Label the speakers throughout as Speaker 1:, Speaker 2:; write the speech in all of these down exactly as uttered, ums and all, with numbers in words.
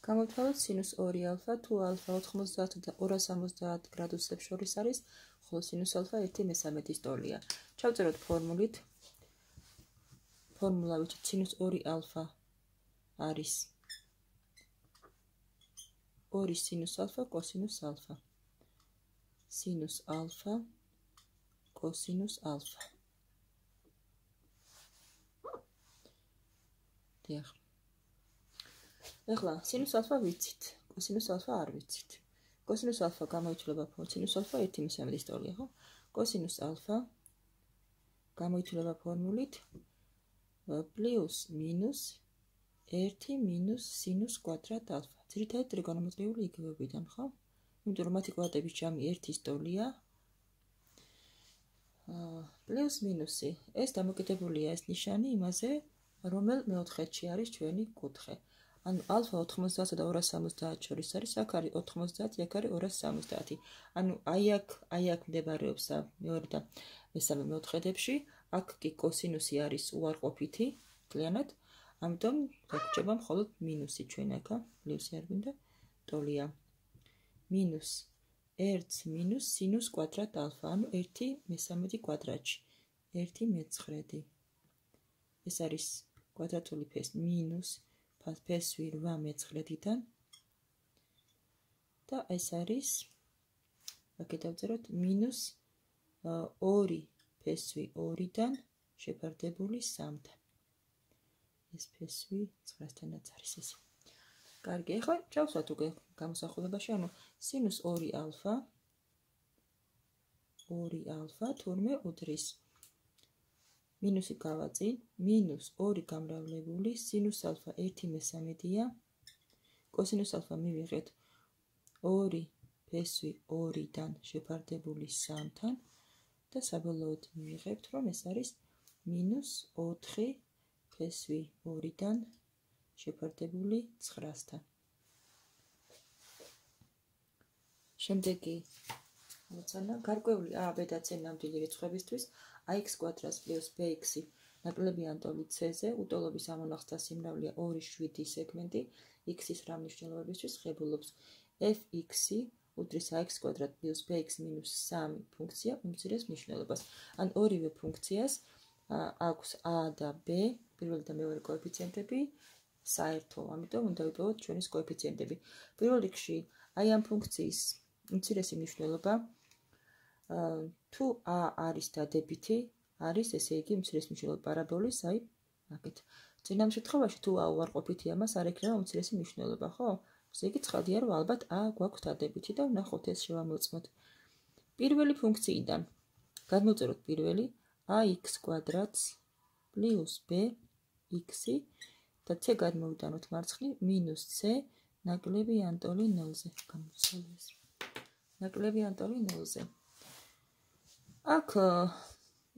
Speaker 1: გამოვთვალოთ სინუს ორი ალფა, თუ ალფა ოთხმოცდაათ და ორას ორმოცდაათ გრადუსებს შორის არის, ხოლო სინუს ალფა ერთი მესამედის ტოლია. ჩავწეროთ ფორმულით. ფორმულა ვიცით სინუს ორი ალფა არის ორი სინუს ალფა კოსინუს ალფა. სინუს ალფა კოსინუს ალფა. დიახ. ეხლა სინუს ალფა ვიცით, კოსინუს ალფა არ ვიცით. კოსინუს ალფა გამოიცვლება სინუს ალფა ერთი მესამედის ტოლია, ხო? კოსინუს ალფა გამოიცვლება ფორმულით პლუს მინუს ერთი მინუს სინუს კვადრატ ალფა. ძირითადად ტრიგონომეტრიული იგივებიდან, ხო? იმიტომ რომ მათი კვადრატების ჯამი ერთის ტოლია. პლუს მინუსი, ეს დამოკიდებულია ეს ნიშანი იმაზე, რომელ მეოთხედში არის ჩვენი კუთხე. ანუ ალფა ოთხმოცდაათ და ორას სამოცდაათ შორის არის, აქ არის ოთხმოცდაათი, აქ არის ორას სამოცდაათი. ანუ აი აქ, აი აქ მდებარეობს მეორე და მესამე მეოთხედებში, აქ კი კოსინუსი არის უარყოფითი, მთლიანად, ამიტომ გვაქვს მხოლოდ მინუსი ჩვენ აქ, პლუსი არ გვინდა, ტოლია. მინუს ერთი მინუს სინუს კვადრატ ალფა, ანუ ერთი მესამედი კვადრატში, ერთი მეცხრედი. ეს არის კვადრატული ფეს მინუს ფესვი რვა მეცხრედიდან და ეს არის აქეთ დავწეროთ მინუს ორი ფესვი ორიდან შეფარდებული სამთან. ეს ფესვი ცხრასთანაც არის ეს. კარგი, ახლა ჩავსვათ უკვე გამოსახულებაში, ანუ სინუს ორი ალფა ორი ალფა თურმე უდრის მინუსი გავაწინ, მინუს ორი გამრავლებული სინუს ალფა ერთი მესამედია, კოსინუს ალფა მივიღეთ ორი ფესვი ორიდან შეფარდებული სამთან და საბოლოოდ მივიღებთ, რომ ეს არის მინუს ოთხი ფესვი ორიდან შეფარდებული ცხრასთან. შემდეგი მოცანა გარკვეული a, b და c ნამდვილი რიცხვებისთვის ax კვადრატს პლუს bx-ი ნაკლებიან ტოლი c-ზე, უტოლობის ამონახსთა სიმრავლეა ორი შვიდი სეგმენტი x-ის რა მნიშვნელობებისთვის ღებულობს fx-ი უდრის ax კვადრატ პლუს bx მინუს სამი ფუნქცია უმცირეს მნიშვნელობას. ან ორივე ფუნქციას აქვს a და b, პირველი და მეორე კოეფიციენტები საერთო, ამიტომ უნდა ვიპოვოთ ჩვენის კოეფიციენტები. პირველ რიგში აი ამ ფუნქციის უმცირესი მნიშვნელობა თუ a არის დადებითი, არის ესე იგი უმცირესი მნიშვნელობა პარაბოლის, აი აქეთ. წინამ შემთხვევაში თუ a უარყოფითია, მას არ ექნება უმცირესი მნიშვნელობა, ხო? ესე იგი ცხადია, რომ ალბათ a გვაქვს დადებითი და ვნახოთ ეს შევამოწმოთ. პირველი ფუნქციიდან გადმოვწეროთ პირველი ax კვადრატს პლუს bx-ი და c გადმოვიტანოთ მარცხნივ მინუს c ნაკლები ანტოლი ნულზე. გამოვცვალე ეს. ნაკლები ანტოლი ნულზე. აქ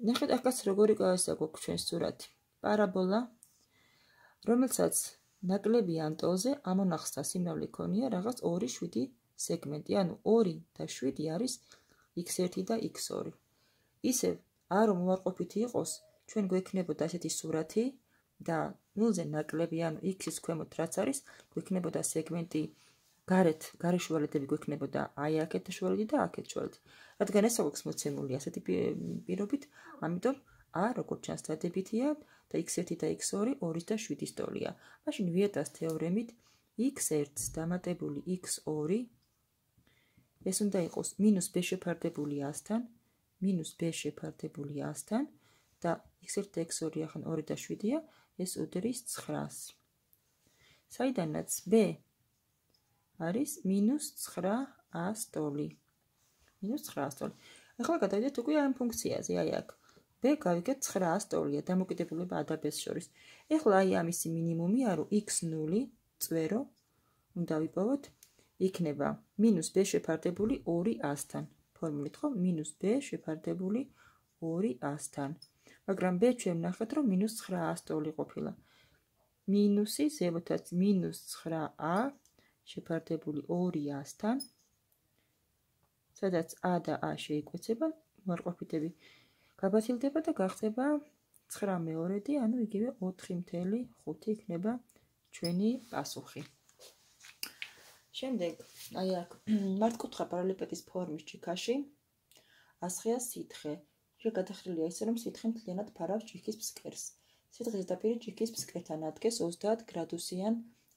Speaker 1: ნახეთ, აქაც როგორი ესა გვაქვს ჩვენს სურათი. პარაბოლა, რომელსაც ნაკლები ანტოლზე ამონახსთა სიმრავლე ქონია რაღაც ორი შვიდი სეგმენტი, ანუ ორი და შვიდი არის x ერთი და x ორი. ისევ არ რომ უარყოფითი იყოს, ჩვენ გვექნებოდა ასეთი სურათი და ნულზე ნაკლები, ანუ x-ის ქვემოთ რაც არის, გვექნებოდა სეგმენტი გარეთ, გარე შუალედები გვექნებოდა აი აქეთ შუალედი და აქეთ შუალედი. რადგან ეს აქვს მოცემული ასეთი პირობით, ამიტომ a როგორც ჩანს დადებითია და x ერთი და x ორი ორი და შვიდის ტოლია. მაშინ ვიეტას თეორემით x ერთს დამატებული x ორი ეს უნდა იყოს მინუს b შეფარდებული ასთან, მინუს b შეფარდებული ასთან და x ერთი და x ორი ახან ორი და შვიდია, ეს უდრის ცხრას. საიდანაც b არის მინუს ცხრა ას ტოლი. მინუს ცხრა ას ტოლი. ახლა გადავიდეთ უკვე ამ ფუნქციაზე, აი აქ. b გავიგეთ ცხრა ას ტოლია, დამოკიდებულება a და b-ს შორის. ახლა აი ამისი მინიმუმია, რომ x ნული წვერო უნდა ვიპოვოთ, იქნება მინუს b შეფარდებული ორი ასთან. ფორმულით, ხო? მინუს b შეფარდებული ორი ასთან. მაგრამ b ჩვენ ვნახეთ, რომ მინუს ცხრა ას ტოლი ყოფილა. მინუსი ზემოთაც მინუს ცხრა a შეფარდებული ორი ასთან, სადაც a და a შეიკვეცება, უარყოფითები გაბათილდება და გახდება ცხრა მეორედი, ანუ იგივე ოთხი მხოლოდ ხუთი იქნება ჩვენი პასუხი. შემდეგ, აი აქ მართკუთხა პარალელეპიპედის ფორმის ჯიქაში ასხეა სითხე. ჯერ გადახრილია ისე, რომ სითხე მთლიანად ფარავს ჯიქის ფსკერს. სითხის ზედაპირი ჯიქის ფსკერთან ადგეს ოცდაათ გრადუსიან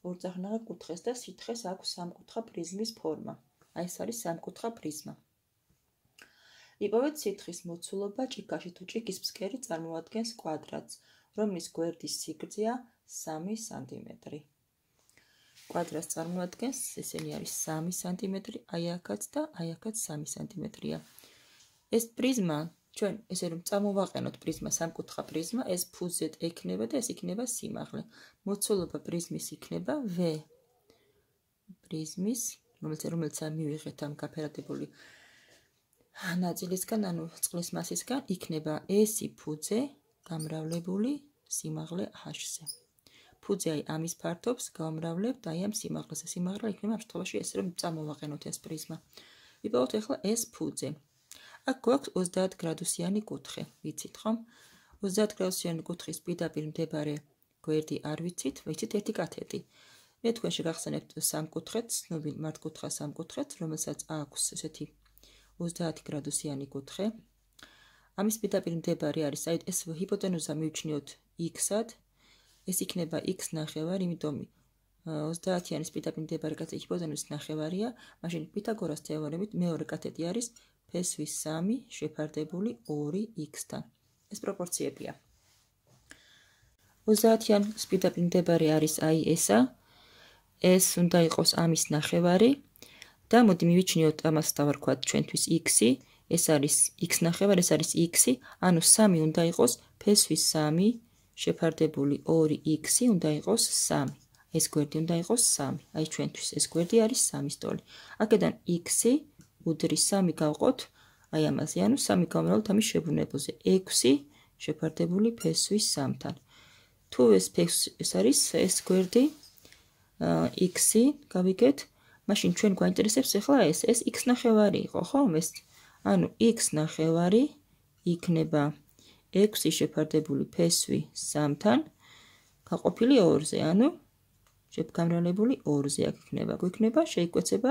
Speaker 1: ორწახნაგა კუთხეს და სითხეს აქვს სამკუთხა პრიზმის ფორმა. აი ეს არის სამკუთხა პრიზმა. იპოვეთ სითხის მოცულობა ჯიქაში თუ ჯიქის ფსკერი წარმოადგენს კვადრატს, რომლის გვერდის სიგრძეა სამი სანტიმეტრი. კვადრატს წარმოადგენს, ესენი არის სამი სანტიმეტრი, აი აქაც და აი აქაც სამი სანტიმეტრია. ეს პრიზმა, ჩვენ ესე რომ წამოვაყენოთ პრიზმა, სამკუთხა პრიზმა, ეს ფუძე ექნება და ეს იქნება სიმაღლე. მოცულობა პრიზმის იქნება V პრიზმის, რომელიც რომელიც მივიღეთ ამ გაფერადებული ნაწილისგან, ანუ წყლის მასისგან, იქნება S ფუძე გამრავლებული სიმაღლე H-ზე. ფუძე აი ამის ფართობს გავამრავლებთ აი ამ სიმაღლეზე. სიმაღლე იქნება ამ შემთხვევაში ესე რომ წამოვაყენოთ ეს პრიზმა. იპოვოთ ახლა ეს ფუძე. აქ გვაქვს ოცდაათ გრადუსიანი კუთხე, ვიცით ხომ? ოცდაათ გრადუსიანი კუთხის პირდაპირ მდებარე გვერდი არ ვიცით, ვიცით ერთი კათეტი. მე თქვენში გახსენებთ სამკუთხედს, ცნობილ მართკუთხა სამკუთხედს, რომელსაც აქვს ესეთი ოცდაათ გრადუსიანი კუთხე. ამის პირდაპირ მდებარე არის, აი ეს ჰიპოტენუზა მივჩნიოთ x-ად, ეს იქნება x ნახევარი, იმიტომ ოცდაათიანის პირდაპირ მდებარე კათეტი ჰიპოტენუზის ნახევარია, მაშინ პითაგორას თეორემით მეორე კათეტი არის ფესვის სამი შეფარდებული ორი x-თან. ეს პროპორციებია. ოცდაათიანის პირდაპირ მდებარე არის აი ესა, ეს უნდა იყოს ამის ნახევარი და მოდი მივიჩნიოთ ამას დავარქვათ ჩვენთვის x-ი, ეს არის x ნახევარი, ეს არის x-ი, ანუ სამი უნდა იყოს ფესვის სამი შეფარდებული ორი x-ი უნდა იყოს სამი. ეს გვერდი უნდა იყოს სამი. აი ჩვენთვის ეს გვერდი არის სამის ტოლი. აქედან x-ი უდრის სამი გავყოთ, აი ამაზე, ანუ სამი გავმრავლოთ ამის შებუნებაზე. ექვსი შეფარდებული ფესვის სამთან. თუ ეს ეს არის ეს გვერდი x-ი გავიგეთ, მაშინ ჩვენ გვაინტერესებს ახლა ეს, ეს x ნახევარი იყო, ხომ ეს? ანუ x ნახევარი იქნება ექვსი შეფარდებული ფესვი სამთან გაყოფილი ორზე, ანუ შეფარდებული ორზე აქ იქნება. გვექნება შეიკვეცება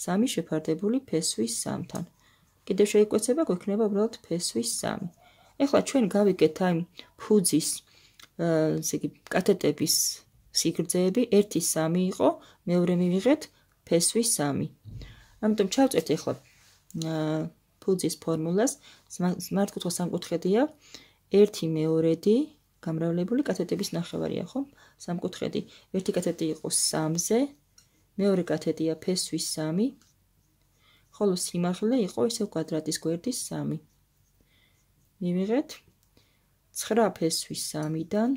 Speaker 1: სამი შეფარდებული ფესვის სამთან. კიდევ შეიკვეცება გვექნება უბრალოდ ფესვის სამი. ეხლა ჩვენ გავიგეთ აი ფუძის ესე იგი კათეტების სიგრძეები ერთი სამი იყო, მეორე მივიღეთ ფესვის სამი. ამიტომ ჩავწერთ ეხლა ფუძის ფორმულას, მართკუთხა სამკუთხედია, ერთი მეორედი გამრავლებული კათეტების ნახევარია, ხო? სამკუთხედი, ერთი კათეტი იყო სამზე, მეორე კათეტია ფესვის სამი, ხოლო სიმაღლე იყო ისევ კვადრატის გვერდის სამი. მივიღეთ ცხრა ფესვის სამიდან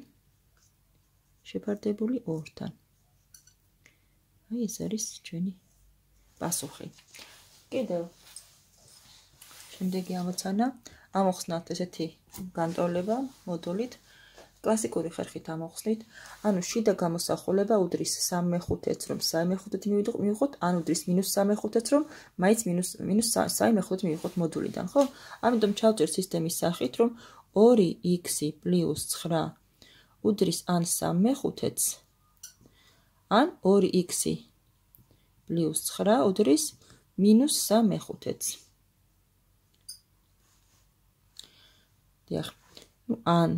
Speaker 1: შეფარდებული ორთან. აი ეს არის ჩვენი პასუხი. კიდევ შემდეგი ამოცანა ამოხსნათ ესეთი განტოლება მოდულით კლასიკური ხერხით ამოხსნით, ანუ შიდა გამოსახულება უდრის სამი მეხუთედს, რომ სამი მეხუთედი მივიღოთ, ან უდრის მინუს სამი მეხუთედს, რომ მაინც მინუს მინუს სამი მეხუთედი მივიღოთ მოდულიდან, ხო? ამიტომ ჩავწერ სისტემის სახით, რომ ორი x პლუს ცხრა უდრის ან სამი მეხუთედს, ან ორი x პლუს ცხრა უდრის მინუს სამი მეხუთედს. დიახ, ნუ ან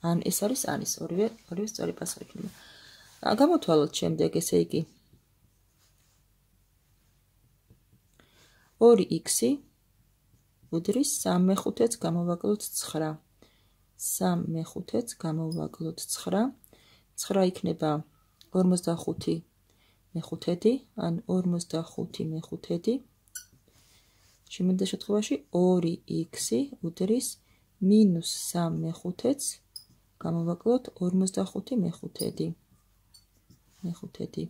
Speaker 1: ან ეს არის ანის ორივე ორივე სწორი პასუხი იქნება. გამოთვალოთ შემდეგ, ესე იგი ორი x უდრის სამი მეხუთედს გამოვაკლოთ ცხრა. სამი მეხუთედს გამოვაკლოთ ცხრა. ცხრა იქნება ორმოცდახუთი მეხუთედი, ან ორმოცდახუთი მეხუთედი. შემდეგი შემთხვევაში ორი x უდრის მინუს სამი მეხუთედს გამოვაკლოთ ორმოცდახუთი მეხუთედი. მეხუთედი.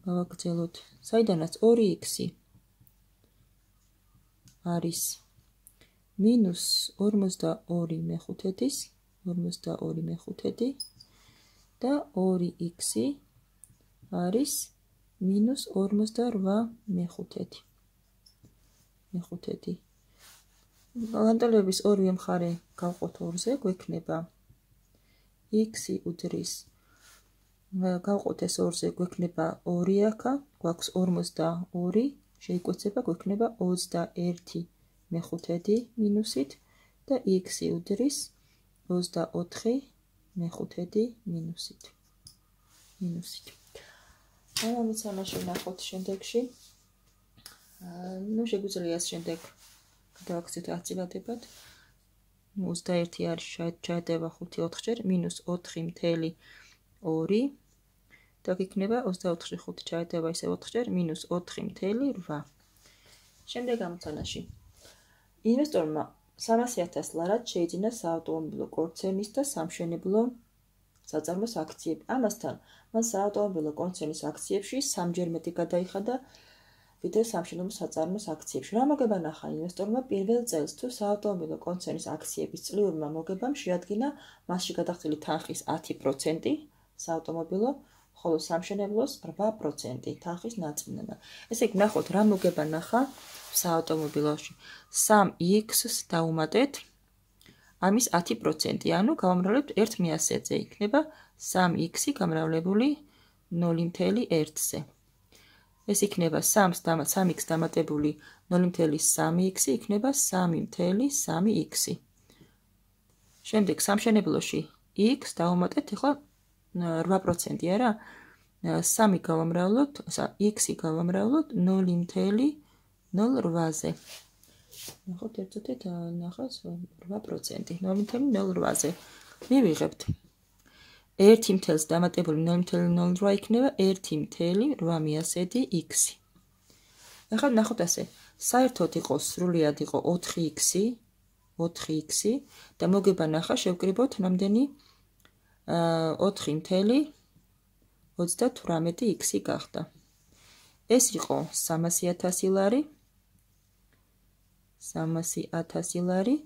Speaker 1: გავაგრძელოთ. საიდანაც ორი x არის მინუს ორმოცდაორი მეხუთედის, ორმოცდაორი მეხუთედი და ორი x არის მინუს ორმოცდარვა მეხუთედი. მეხუთედი. განტოლების ორივე მხარე გავყოთ ორზე, გვექნება x უდრის გავყოთ ეს ორზე, გვექნება ორი აქა, გვაქვს ორმოცდაორი, შეიკვეცება, გვექნება ოცდაერთი მეხუთედი მინუსით და x-ი უდრის ოცდაოთხი მეხუთედი მინუსით. მინუსით. ამით ამაში ნახოთ შემდეგში. ნუ შეგვიძლია ეს შემდეგ გადავაქცევთ აწილადებად. ოცდაერთი არის ჩაეტევა ხუთი ოთხჯერ მინუს ოთხი მთელი ორი და გიქნება ოცდაოთხში ხუთი ჩაეტევა ისე ოთხჯერ მინუს ოთხი მთელი რვა. შემდეგ ამოცანაში. ინვესტორმა სამასი ათას ლარად შეიძინა საავტომობილო კონცერნის და სამშენებლო საწარმოს აქციები. ამასთან მან საავტომობილო კონცერნის აქციებში სამჯერ მეტი გადაიხადა ვიდრე სამშენებლო საწარმოს აქციებში. რა მოგება ნახა ინვესტორმა პირველ წელს თუ საავტომობილო კონცერნის აქციების წლიურმა მოგებამ შეადგინა მასში გადახდილი თანხის ათი პროცენტი საავტომობილო, ხოლო სამშენებლოს რვა პროცენტი თანხის ნაწილნაირად. ესე იგი ნახოთ რა მოგება ნახა საავტომობილოში. სამ x-ს დაუმატეთ ამის ათი პროცენტი, ანუ გავამრავლებთ ერთ მეასეზე, იქნება სამ x-ი გამრავლებული ნული მთელი ერთზე. ეს იქნება სამს სამ x დამატებული ნული მთელი სამი x-ი იქნება სამი მთელი სამი x-ი. შემდეგ სამშენებლოში x დაუმატეთ ახლა რვა პროცენტი არა? სამი გავამრავლოთ, x-ი გავამრავლოთ ნული მთელი ნულ რვაზე. ნახოთ ერთად ნახავს რვა პროცენტი ნული მთელი ნულ რვაზე. მივიღებთ ერთი მთელს დამატებული ნული მთელი ნული რვა იქნება ერთი მთელი რვა მეასედი x-ი. ახლა ნახოთ ასე, საერთოდ იყო სრულად იყო ოთხი x-ი, ოთხი x-ი და მოგება ნახა შევკრიბოთ რამდენი ოთხი მთელი ოცდათვრამეტი x-ი გახდა. ეს იყო სამასი ათასი ლარი, სამასი ათასი ლარი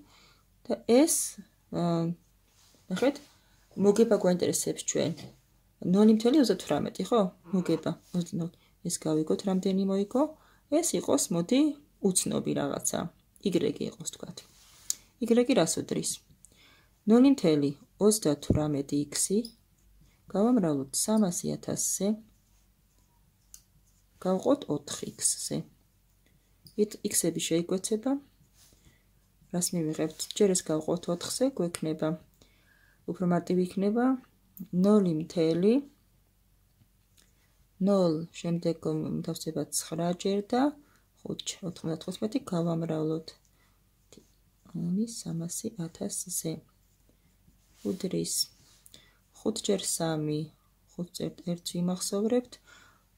Speaker 1: და ეს ნახეთ მოგება გვაინტერესებს ჩვენ ნული მთელი ოცდათვრამეტი, ხო? მოგება ეს გავიგოთ რამდენი მოიგო? ეს იყოს მოდი უცნობი რაღაცა. y იყოს თქვათ. y რას უდრის? ნული მთელი ოცდათვრამეტი x-ი გავამრავლოთ სამასი ათასზე, გავყოთ ოთხი x-ზე. x-ები შეიკვეცება. რას მივიღებთ? ჯერ ეს გავყოთ ოთხზე, გვექნება უფრო მარტივი იქნება ნული მთელი ნული შემდეგ დავწერთ ცხრა ჯერ და ხუთი ოთხმოცდათხუთმეტი გავამრავლოთ ამის სამასი ათასზე. უდრის ხუთი ჯერ სამი, ხუთი ჯერ ერთი ვიმახსოვრებთ,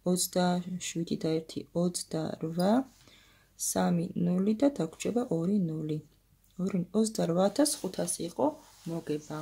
Speaker 1: ოცდაშვიდი და ერთი ოცდარვა, სამი ნული და დაგვრჩება ორი ნული. ოცდარვა ათას ხუთასი იყო მოგება.